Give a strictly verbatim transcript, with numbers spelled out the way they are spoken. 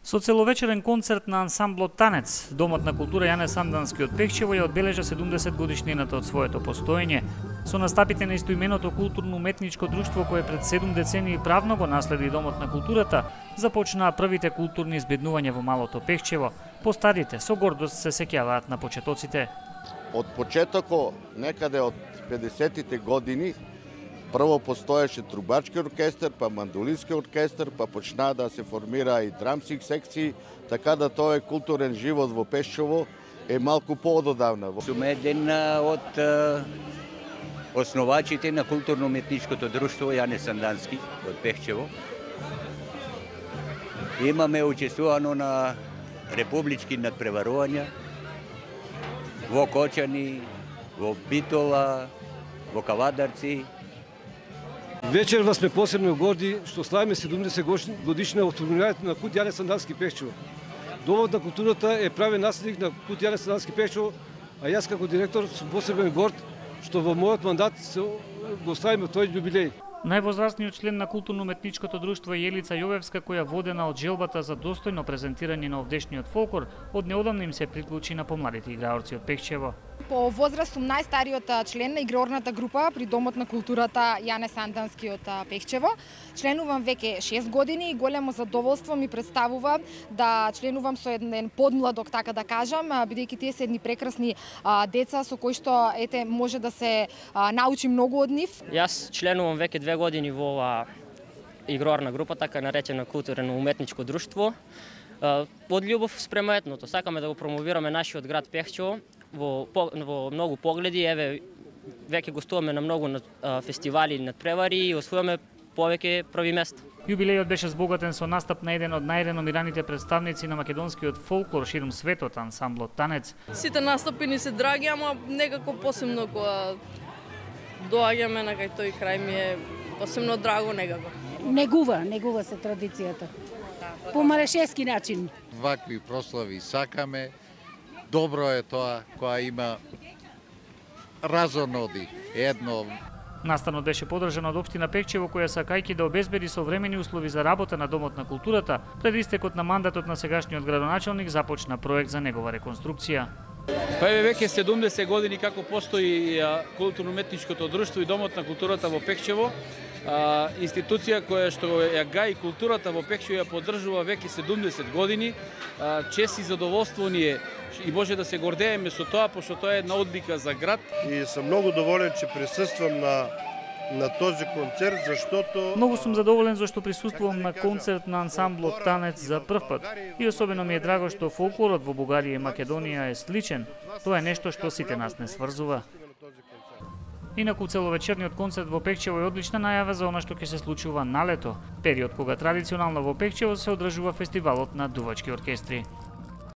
Со целовечерен концерт на ансамблот Танец, Домот на култура Јане Сандански од Пехчево ја одбележа седумдесет годишнината од своето постоење. Со настапите на истоименото културно-уметничко друштво кое пред седум децении правно го наследи Домот на културата, започнаа првите културни избеднувања во малото Пехчево. Постарите со гордост се сеќаваат на почетоците. Од почетоко, некаде од педесетите години, прво постоеше трубачки оркестар, па мандолински оркестар, па почнаа да се формира и драмски секции, така да тој културен живот во Пешчево е малку поододавна. Сум еден од основачите на културно-уметничкото друштво Јане Сандански од Пехчево. Имаме учествувано на републички надпреварувања во Кочани, во Битола, во Кавадарци. Вечерва сме посебно горди што славиме седумдесет годишна од формирањето на култ Јане Сандански Пехчево. Домот на културата е правен наследник на култ Јане Сандански Пехчево, а јас како директор сум посебен горд што во мојот мандат го славиме тој јубилеј. Највозрастниот член на културно-уметничкото друштво е Јелица Јовевска, која водена од желбата за достојно презентирање на овдешниот фолклор, од неодамна им се приклучи на помладите играорци од Пехчево. По возраст сум најстариот член на игрорната група при Домот на културата Јане Сандански од Пехчево. Членувам веќе шест години и големо задоволство ми представува да членувам со еден подмладок, така да кажам, бидејќи тие се едни прекрасни а, деца со кои што ете може да се а, научи многу од нив. Јас членувам веќе две години во ова игрорна група, така наречена културно-уметничко друштво. Од љубов спрема етното, сакаме да го промовираме нашиот град Пехчево во, во многу погледи. Еве, веќе гостуваме на многу фестивали и надпревари и освојаме повеќе први места. Јубилејот беше збогатен со настап на еден од најреномираните представници на македонскиот фолклор ширум светот, ансамблот Танец. Сите настапи ни се драги, ама некако посебно кога доаѓаме на кај тој крај ми е посебно драго некако. Негува, негува се традицијата. По марешески начин. Вакви прослави сакаме. Добро е тоа која има разоноди едно. Настанот беше подржан од општина Пехчево, која сакајќи да обезбеди современи услови за работа на Домот на културата, пред истекот на мандатот на сегашниот градоначалник започна проект за негова реконструкција. Па еве веќе седумдесет години како постои културно-уметничкото друштво и Домот на културата во Пехчево. А, институција која што ја гаи културата во Пехчево ја поддржува веќе седумдесет години. А, чест и задоволство ни е и може да се гордееме со тоа, пошто тоа е една одлика за град. И сум многу доволен че присуствувам на на този концерт, заштото Многу сум задоволен зашто присуствувам на концерт на ансамблот Танец за прв пат. И особено ми е драго што фолклорот во Бугарија и Македонија е сличен. Тоа е нешто што сите нас не сврзува. Инаку целовечерниот концерт во Пехчево е одлична најава за она што ќе се случува на лето, период кога традиционално во Пехчево се одржува фестивалот на дувачки оркестри.